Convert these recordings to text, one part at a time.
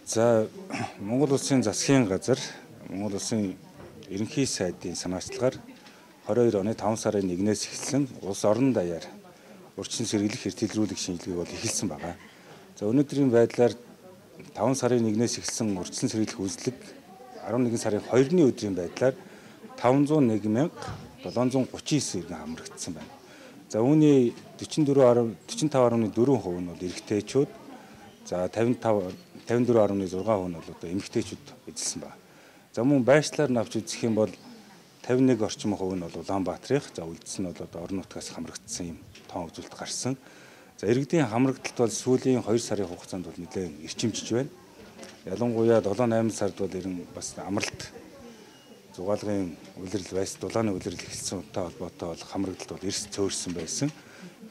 За Монгол улсын засгийн газар Монгол улсын ерөнхий сайдын санаачлагаар 22 оны 5 сарын 1-ээс эхэлсэн улс орон даяар урьдчилан сэргийлэх эртэлрүүлэх шинжилгээг бол эхэлсэн байна. За өнөөдрийн байдлаар 5 сарын 1-ээс эхэлсэн урьдчилан сэргийлэх үйлчлэг 11 сарын 2-ны өдрийн байдлаар 501,739 иргэн хамрагдсан байна. За үүний 45.4% нь бол эрэгтэйчүүд, за 54.6% нь бол одоо эмэгтэйчүүд эзэлсэн байна. За мөн байршлаар навч үзэх юм бол 51 орчим хувь нь бол Улаанбаатарынх, за үлдсэн нь бол одоо орон нутгаас хамрагдсан юм тоон үзүүлэлт гарсан. За иргэдийн хамрагдалт бол сүүлийн 2 сарын хугацаанд бол нэлээд эрчимжиж байна. Ялангуяа 7-8 сард бол бас амралт зугаалгын улирал байс дулааны улирал эхэлсэн үнэтэй холбоотой бол хамрагдалт бол эрс цөөрсөн байсан.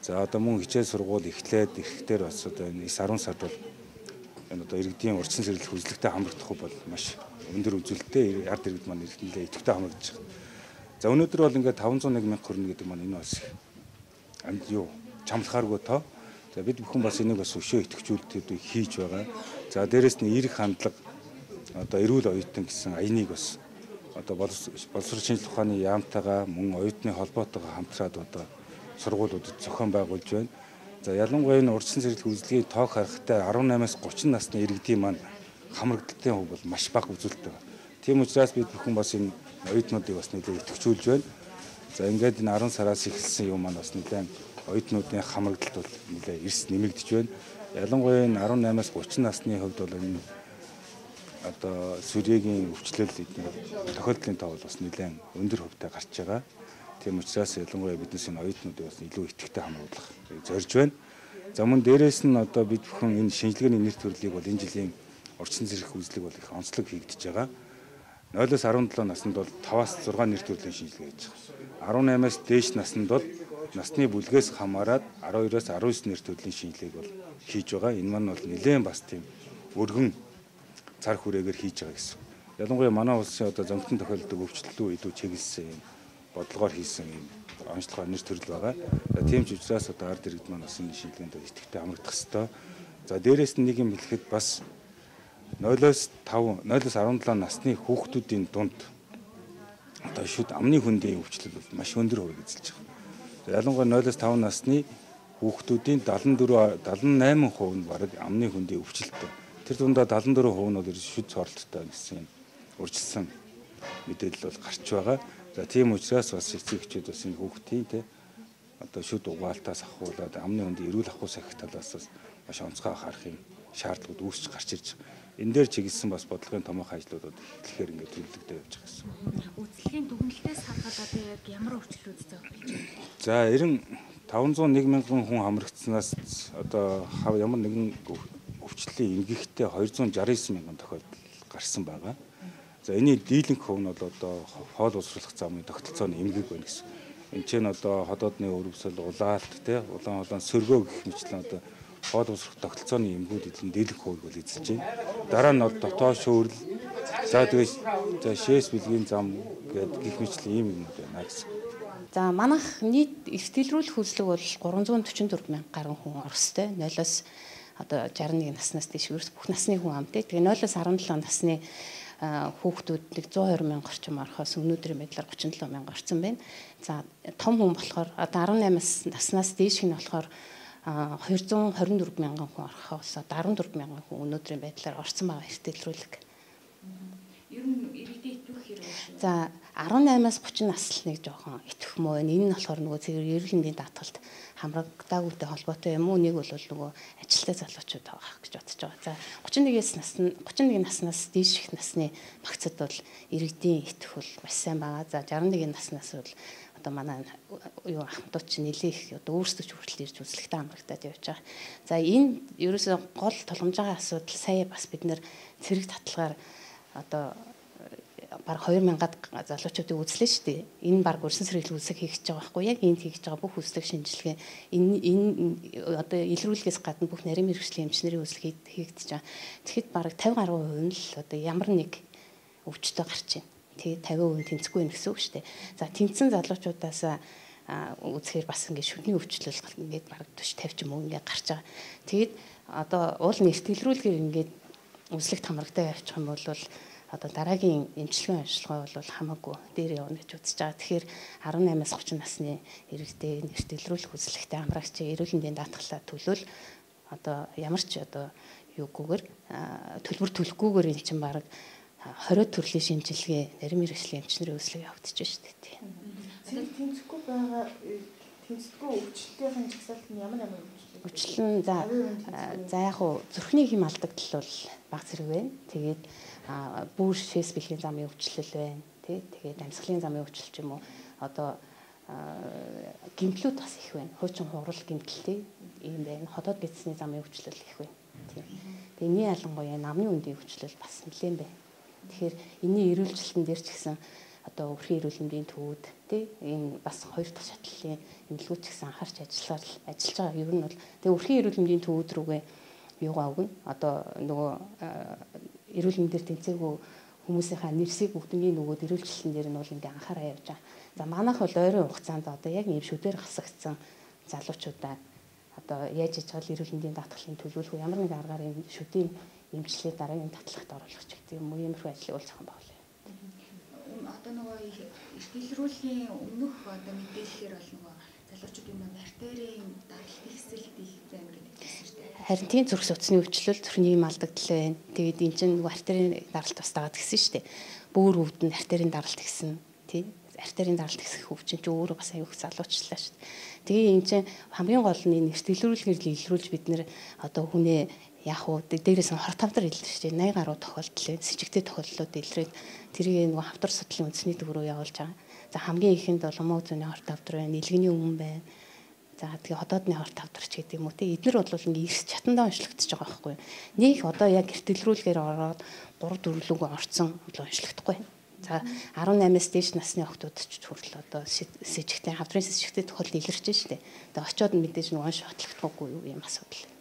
За одоо мөн хичээл сургууль эхлээд ирэхээр бас одоо энэ 9-10 сард бол энэ одоо иргэдийн урьдчилан сэргийлэх үзлэгтэй хамрагдах бол маш өндөр үзүүлэлттэй ард иргэд маань нэлээд идэвхтэй хамрагдаж байна. За өнөөдөр бол ингээд 501 мянга хүрнэ гэдэг маань энэ бас чамлахааргүй тоо. За бид бүхэн бас энийг бас өшөө идэвхжүүлэлтүүд хийж байгаа. За дээрэс нь эерэг хандлага одоо эрүүл оюутан гэсэн аяныг бас одоо боловсрол шинжилгээ ухааны яамтайгаа мөн оюутны холбоотойгоо хамтраад одоо сургуулиудад зохион байгуулж байна. За ялангуяа энэ урьдчилан сэргийлэх үйлчлэгийн тоог харахтай 18-аас 30 насны иргэдийн маань хамрагдалтын хувь бол маш бага үзүүлэлт байна. Тийм учраас бид бүхэн бас энэ оюутнуудыг бас нэлээд идэвхжүүлж байна. За ингээд энэ 10 сараас эхэлсэн юм маань бас нэлээд оюутнуудын хамрагдалт бол нэлээд эрс нэмэгдэж байна. Ялангуяа энэ 18-аас 30 насны хувьд бол энэ одоо сүрьегийн өвчлөл тохиолдлын тоо бол бас нэлээд өндөр хувьтай гарч байгаа. Тийм учраас ялангуяа биднес энэ оюутнуудыг бас илүү идэвхтэй хамруулах зорж байна. За мөн дээрээс нь одоо бид бүхэн энэ шинжилгээний нэр төрлийг бол энэ жилийн урьдчилан сэргийлэх үйлчлэг бол их онцлог хийгдэж байгаа. 0-17 наснд бол 5-аас 6 нэр төрлийн шинжилгээ хийж байгаа. 18-аас дээш наснд бол насны бүлгээс хамаарат 12-аас 19 нэр төрлийн шинжилгээг бол хийж байгаа. Энэ маань бол нэлээд бас тийм өргөн цар хүрээгээр хийж байгаа гэсэн. Ялангуяа манай улсын одоо зөнгөтөн тохиолддог өвчлөлтөө илүү чиглэсэн юм бодлогоор хийсэн юм онцлогоор нэр төрөл байгаа. Тийм ч учраас одоо ард иргэд маань бас энэ шинжилгээнд идэвхтэй хамрагдах ёстой. За дээрээс нь нэг юм хэлэхэд бас 0-17 насны хүүхдүүдийн дунд одоо шүд амны хөндийн өвчлөл бол маш өндөр хувийг эзэлж байгаа. Ялангуяа 0-5 насны хүүхдүүдийн 78% нь бараг амны хөндийн өвчлөлттэй. Тэр дундаа 74% нь бол шүд цоролттой гэсэн урьдчилсан мэдээлэл бол гарч байгаа. За тийм учраас бас эцэг эхчүүд бас энэ хүүхдийн одоо шүд угаалтаас ахуулаад амны хөндийн эрүүл ахуй сахих талаас маш онцгой анхаарах юм шаардлагууд үүсч гарч ирж байгаа. Энэ дээр чиглэсэн бас бодлогын томоохон ажлуудад эхлэхээр ингээд төлөвлөгдөө явж байгаа гэсэн. Үйлчлэгийн дүгнэлтээс хадгалаад одоо яг ямар өвчлөлүүд зөөх болж байна? За 501 мянган хүн хамрагдсанаас одоо ямар нэгэн өвчлөлийн эмгэгтэй 269 мянган тохиолдол гарсан байгаа. За энэний дийлэнх хувь нь бол одоо хоол уусруулах замын тогтолцооны эмгэг байна гэсэн. Энд чинь одоо ходоодны өрөвсөл, улаалт, улаан сөргөө гэх мэтлэн одоо хоол уусрах тогтолцооны эмгүүд эзэн дийлэнх хувийг бол эзэлж байна. Дараа нь бол дотоод шүүрэл, за тэгээд шээс бэлгийн зам гэдэг гих мэтлэн ийм юмнууд байна гэсэн. За манайх нийт эртэлрүүлэх үйлчлэг бол 344 мянга гаруй хүн орстой. 0-оос одоо 61 наснаас дээш бүх насны хүн амтай. Тэгээ 0-оос 17 насны хүүхдүүд 120 мянга орчим орохоос өнөөдрийн байдлаар 37 мянга орсон байна. За том хүн болохоор одоо 18 наснаас дээш нь болохоор 224 мянган хүн орохоос 14 мянган хүн өнөөдрийн байдлаар орсон байгаа эртэлрүүлэг. Ер нь иргэдийн итгэх хэрэг. За 18-аас 30 наслныг жоохон итгэх мөө. Энэ нь болохоор нөгөө зэрэг эрүүл мэндийн даатгалд хамрагдаагүйтэй холбоотой юм уу? Нэг бол нөгөө ажилтай залуучууд байгаа гэж бодож байгаа. За 31 наснаас дээш их насны багцад бол иргэдийн итгэх бол маш сайн байгаа. За 61 наснаас бол одоо манай ахмадууд чинь нэлээх одоо өөрсдөө ч хүртэл ирж үзлэгтэй хамрагдаад явж байгаа. За энэ ерөөсөө гол тулгамж байгаа асуудал сая бас бид нэр цэрэг татлагаар одоо баг 2000-ад залуучуудыг үзлээ шүү дээ. Энэ баг өрсөн сэргийлэх үйлсийг хийх гэж байгаа байхгүй яг энд хийж байгаа бүх үйлсийг шинжилгээ энэ одоо илрүүлгээс гадна бүх нарийн мэргэжлийн эмчнэрийн үйлсийг хийгдэж байгаа. Тэгэхэд баг 50 гаруй хувь нь л одоо ямар нэг өвчтөй гарч байна. Тэгээ 50% тэнцэхгүй байх гэсэн үг шүү дээ. За тэнцсэн залуучуудаас үзэхээр бас ингээд шүдний өвчлөл ингээд баг 40 50 ч юм уу ингээд гарч байгаа. Тэгээд одоо уул нэртгэлрүүлгээр ингээд үзлэгт хамрагтай явчих юм бол одоо дараагийн эмчилгээний онцлогоо бол хамаагүй дээр явна гэж үзэж байгаа. Тэгэхээр 18-аас 30 насны иргэдээ нэрт илрүүлэх үзлэгтэй хамрагчийн эрүүл мэндийн даатгалаа төлөөл одоо ямар ч одоо юугүйгээр төлбөр төлөхгүйгээр эн чинь баг 20 төрлийн шинжилгээ нарийн мэргэжлийн эмчнэрийн үзлэг явагдаж байна шүү дээ. Тэмцэхгүй байгаа тэмцэхгүй өвчлөлтийн жагсаалт нь ямар өвчлөл нь за яг хуу зүрхний хэм алдагдал бол бага зэрэг байна. Тэгээд бүр шээс бэлгийн замын өвчлөл байна. Тэгээд амьсгалын замын өвчлөл ч юм уу одоо гэмтлүүд бас их байна. Хуучин хурал гэмтэлтэй ийм байна. Хотоод гидсний замын өвчлөл их байна. Тэгээд энэний ялангуяа намны үндийн өвчлөл бас нэлээд байна. Тэгэхээр энэний эрүүлжилтэн дээр ч гэсэн одоо өрхийн эрүүл мэндийн төвүүд энэ бас хоёр дахь шатлалын эмнэлгүүд ч гэсэн анхаарч ажиллаж байгаа. Ер нь бол тэгээ өрхийн эрүүл мэндийн төвүүд рүүгээ юугаа өгнө. Одоо нөгөө эрүүл мэндээр тэнцээгүй хүмүүсийнхаа нэрсийг бүгднийг нөгөөд эрүүлжилтэн дээр нь бол ингээ анхаараа явж байгаа. За манайх бол ойрын хугацаанд одоо яг ийм шүдээр хасагдсан залуучуудаа одоо яаж иж байгаа эрүүл мэндийн даатгалын төлөвлөгөө ямар нэгэн аргаар энэ шүдийн эмчилгээ дараагийн татлагт оруулах гэдэг юм уу иймэрхүү ажлыг болж байгаа юм байна. Одоо нөгөө илрүүлгийн өмнөх одоо мэдээлэлээр бол нөгөө залуучуудын нөгөө артерийн даралт ихсэлт их байна гэдэг хэлсэн шүү дээ. Харин тийм зүрх судасны өвчлөл төрний юм алдагдал байна. Тэгээд эн чинь нөгөө артерийн даралт бас дагаад гисэн шүү дээ. Бөөр өвдөнд артерийн даралт гисэн тий. Артерийн даралт гисэх өвчин чинь өөрөө бас аюух залуучлаа шүү дээ. Тэгээ эн чинь хамгийн гол нь энэ илрүүлгээр илрүүлж бид нэр одоо хүнээ яг уу дээрээс нь 25 илэрч шүү дээ 80 гаруй тохиолдол байна. Сэжигтэй тохиолдлууд илрээд тэрийг нөгөө хавдар судлалын үндэсний төв рүү явуулж байгаа. За хамгийн ихэнд бол муу зүүнний 25 байна, нэлгэний өмнө байна. За тэгээ хотоодны 25 ч гэдэг юм уу те эднэр бол ингээ ирс чатандаа уншлагдчихж байгаа байхгүй юу. Нэг одоо яг эртэлрүүлгээр ороод 3 4 лүг орцсон бол уншлагдахгүй. За 18-аас дээш насны охтууд ч хүртэл одоо сэжигтэй хавдрын сэжигтэй тохиолдол илэрч шүү дээ. Тэгээ очиод мэдээж нөгөө шотлогдохгүй юу юм асуудал.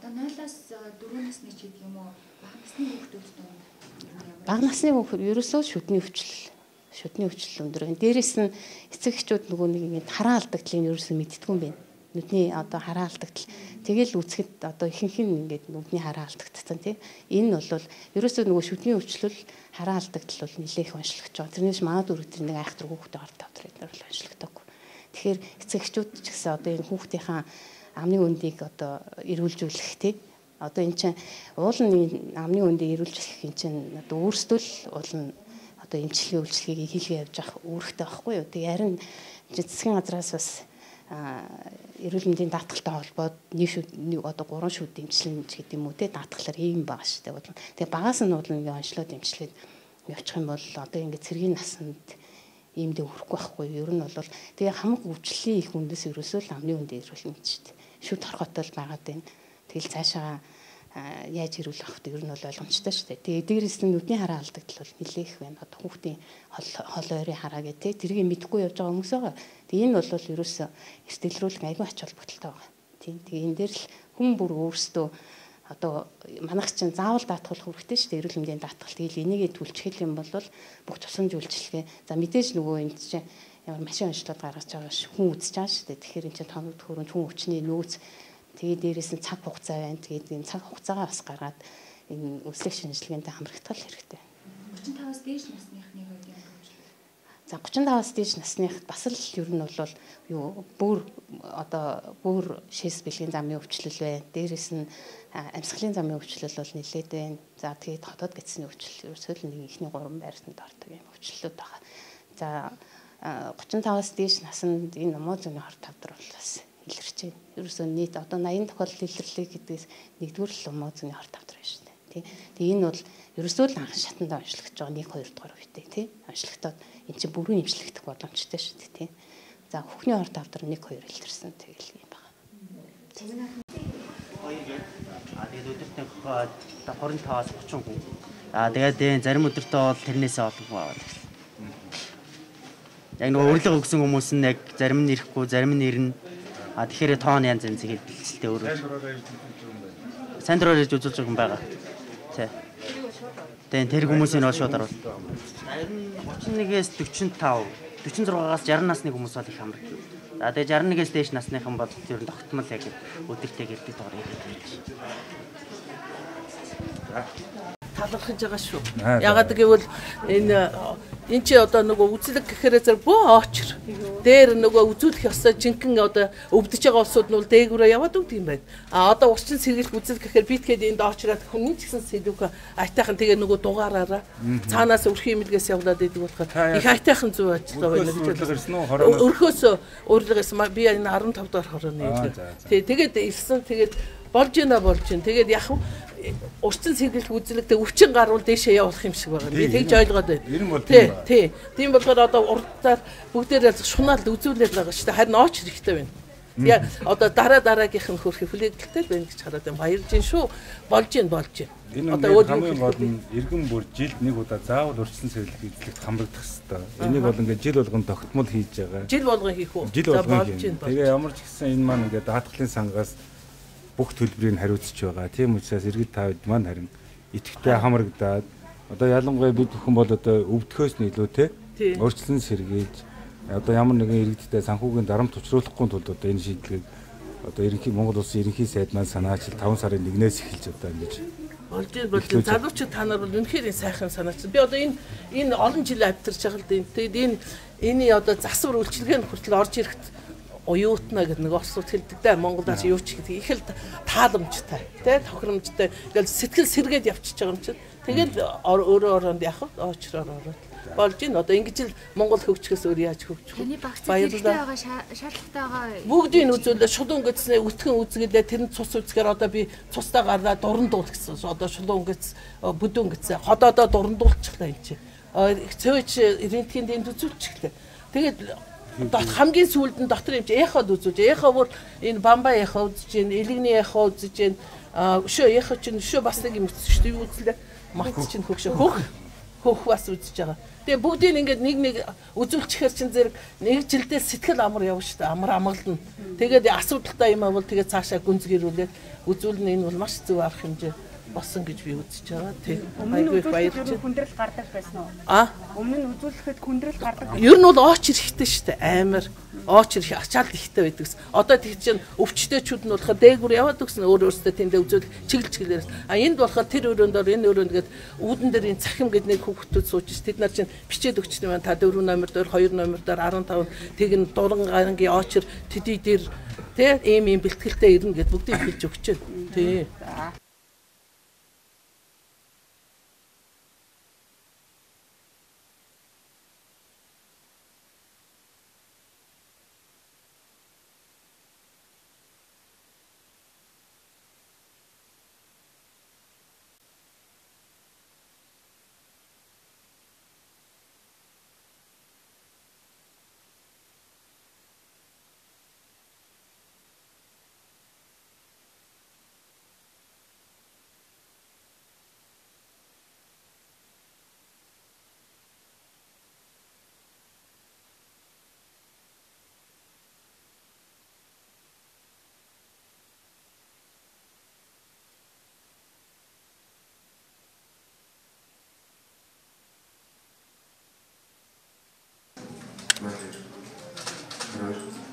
Одоо 0-аас 4 насны ч гэдэг юм уу бага насны хүүхдүүд донд бага насны хүүхэд ерөөсөө шүдний өвчлөл өндөр байна. Дээрээс нь эцэг эхчүүд нөгөө нэг ингэ хараа алдагдлыг ерөөсөө мэддэггүй юм байна. Нүдний одоо хараа алдагдал тэгэл үцгэд одоо ихэнх нь ингээд нүдний хараа алдагдсан тийм. Энэ нь бол ерөөсөө нөгөө шүдний өвчлөл хараа алдагдал бол нэлээх онцлогч байгаа. Тэрнээс манад үргэлж нэг айхтар хүүхдээ орд тавдраад нар бол онцлогдоогүй. Тэгэхээр эцэг эхчүүд ч гэсэн одоо энэ хүүхдийнхаа амны өндийг одоо эрүүлжүүлэх тийм. Одоо эн чинь уулын амны өндийг эрүүлжүүлэх эн чинь одоо өөрсдөө л уулын одоо эмчилгээ үйлчлэгийг хийлгээ явж авах үүрэгтэй байхгүй юу. Тэгээ харин засгийн газраас бас эрүүл мэндийн даатгалтай холбоод нэг одоо 3 шүд эмчилнэ гэдэг юм уу те даатгалаар ийм байгаа шүү дээ. Тэгээ багаас нь бол ингээ онцлоод эмчилгээд явчих юм бол одоо ингээ цэргийн насанд иймдээ хүрэхгүй байхгүй юу. Ер нь бол тэгээ хамаг өвчлөлийн их үндэс ерөөсөө л амны өндөө эрүүл мэнд шүү дээ. Шүд хорхотол байгаад байна. Тэгэл цаашаа яаж ирүүлэх вэ? Ер нь бол ойлгомжтой шүү дээ. Тэгээ дээрээс нь нүдний хараа алдагдал бол нэлээх байна. Одоо хүүхдийн хол ойрын хараа гэх тээ тэрийг мэдхгүй явж байгаа хүмүүс байгаа. Тэгээ энэ бол ерөөсөө эртэлрүүлэх аягүй ач холбогдолтой байгаа. Тийм. Тэгээ энэ дээр л хүн бүр өөрсдөө одоо манайх чинь заавал даатгах хэрэгтэй шүү дээ. Эрүүл мэндийн даатгал. Тэгэл энийгээ түлчгэл юм бол бүх тусламж үйлчилгээ. За мэдээж нөгөө энэ чинь ямар машин онцлог гаргаж байгаа хүн үзэж байгаа шүү дээ. Тэгэхээр энэ чинь тоног хөрөнд хүн өвчний нөөц тэгээд дээрээс нь цаг хугацаа байна. Тэгээд энэ цаг хугацаагаа бас гаргаад энэ өслөх шинжилгээнд хамрагдах хэрэгтэй. 35-аас дээш насныхны хувьд ямар вэ? За 35-аас дээш насных бас л ер нь бол юу бүр шээс бэлгийн замын өвчлөл байна. Дээрээс нь амьсгалын замын өвчлөл бол нэлээд байна. За тэгээд хотоод гидсний өвчлөл ерөөсөө л нэг ихний 3 байртанд ордог юм өвчлөлүүд байгаа. За 35-аас дээш наснд энэ муу зүүнний 25 дөр бол бас илэрч байна. Ерөөсөө нийт одоо 80 тохиолдол илэрлээ гэдгээс нэгдүгээр л муу зүүнний 25 дөр байна шүү дээ. Тэгээ энэ бол ерөөсөө л анхан шатанд онцлогдож байгаа 1 2 дугаар үедээ тий. Онцлогдоод эн чинь бүрэн эмчлэгдэх боломжтой шүү дээ тий. За хүүхний 25 дөр 1 2 илэрсэн тэгэл юм байна. Тэгээд өдөртөө 25-аас 30 хүн. Тэгээд зарим өдөртөө бол тэрнээсээ олон хүн аваад ирсэн. Яг нөгөө урилга өгсөн хүмүүс нь яг зарим нь ирэхгүй, зарим нь ирнэ. Тэгэхээр тоон янз янз тэгээд бэлтэлтэй өөрөө. Сайн дураар ирж үзүүлж байгаа юм байгаа. Тэгээд тэр хүмүүсийн нөө шууд оруулах. Зарим 31-ээс 45, 46-аас 60 насны хүмүүс бол их хамраг. За тэгээд 61-ээс дээш насныхан бол ер нь тогтмол яг өдөртэй гэдэг доор ирээд байна. талархаж байгаа шүү. Ягаад гэвэл энэ чи одоо нөгөө үзлэг гэхээр зэрэг бөө очр. Дээр нөгөө үзүүлэх ёстой жинхэнэ одоо өвдөж байгаа улсууд нь бол дээгүүрээ яваад өгд юм байна. Одоо урчин сэргийлэх үзэл гэхээр битгээд энд очраад хүн ч гэсэн сэдвүүх айтайхан тэгээ нөгөө дугаараараа цаанаас өрх имлгээс явуулаад идэг болохоор их айтайхан зүв ажиллаа байна гэж байна. Өрхөөс урилгаас би энэ 15 дахь хорооны тэгээд ирсэн тэгээд болж байна. Тэгээд яг урчин сэргийлэх үзлэгтэй өвчин гарвал дээшээ явуулах юм шиг байгаа. Би тэгж ойлгоод байна. Тий. Тийм болохоор одоо урдаар бүгдээрээ шунаал үзүүлээд байгаа шүү дээ. Харин ооч хэрэгтэй байна. Тэгээ одоо дараагийнх нь хөрөх хүлээлттэй байна гэж хараад байна. Баярлж байна шүү. Болж байна. Одоо хамгийн гол нь иргэн бүр жилд нэг удаа заавал урчин сэргийлэх үзлэгт хамрагдах хэрэгтэй. Энийг бол ингээд жил болгон тогтмол хийж байгаа. Жил болгон хийх үү? За болж байна. Тэгээ ямар ч гэсэн энэ маань ингээд даатгалын сангаас бүх төлбөрийг хариуцж байгаа. Тийм учраас иргэд тавд маань харин идэвхтэй хамрагдаад одоо ялангуяа бид бүхэн бол одоо өвдөхөөс нь илүү те өөрчлөн сэргийлж одоо ямар нэгэн иргэдтэй санхүүгийн дарамт учруулахгүй тулд одоо энэ шийдлийг одоо ерөнхий Монгол Улсын ерөнхий сайд маань санаачил 5 сарын 1-ээс эхэлж одоо ингэж болж залуучууд та нар бол үнэхээр сайхан санаач. Би одоо энэ олон жил авчирч байгаа л дээ. Тэгээд энэ одоо засвар үйлчилгээнд хүртэл орж ирэхэд уюутна гэдэг нэг орсууд хэлдэг дээ. Монголоос юу ч гэдэг их л тааламжтай, тий тохиромжтой. Ингээл сэтгэл сэргээд явчихж байгаа юм чинь. Тэгээд өөрөө яхав очроор ороод болж ийн одоо ингэж л Монгол хөгжихөөс өөр яаж хөгжих вэ? Таны багц хэрэгтэй байгаа шаардлагатай байгаа. Бүгдийг үзүүлээ шулуун гэцнээ өтгөн үзгэлээ тэрнд цус үзгээр одоо би цустаа гараад дурандуул гэсэн. Одоо шулуун гэц бүдүүн гэцээ ходоодоо дурандуулчихлаа энэ чинь. Цөөж рентгенд энд үзүүлчихлээ. Тэгээд хамгийн сүүлд нь дотор юм чи эход үзүүлж эхо бүр энэ бамба эхо үзэж гин элэгний эхо үзэж гин өшөө эхо чинь өшөө бас нэг юм шүү дээ үзлээ мат чинь хөгшөө хөх бас үзэж байгаа. Тэгээ бүгдийг ингээд нэг үзүүлчихэр чинь зэрэг нэг жилдээ сэтгэл амар явна шүү дээ амар амгална. Тэгээд асуудалтай юм бол тэгээд цаашаа гүнзгийрүүлээд үзүүлнэ энэ бол маш зөв арга хэмжээ болсон гэж би үзэж байгаа. Тэг. Айгүй баярлж хүндрэл гардаг байсан уу? Өмнө нь үзүүлэхэд хүндрэл гардаг. Ер нь бол ооч хэрэгтэй шүү дээ. Амар ооч ирэх ачаал ихтэй байдаг. Одоо тэг чинь өвчтөчүүд нь болохоор дээгүр яваад өгсөн өөрөөсөө тэндээ үзүүлэх чиглэлээр. Энд болохоор тэр өрөөндөө энэ өрөөнд гээд үүдэн дээр энэ цахим гэд нэг хүүхдүүд сууж ш. Тэд нар чинь бичээд өгчтэй байна. Та 4 номер дээр 2 номер дээр 15 тэг н дуран гарангийн оочор тэдий дээр тэг ийм бэлтгэлтэй ирнэ гэд бүгдийг хэлж өгч байна. Тий. Right.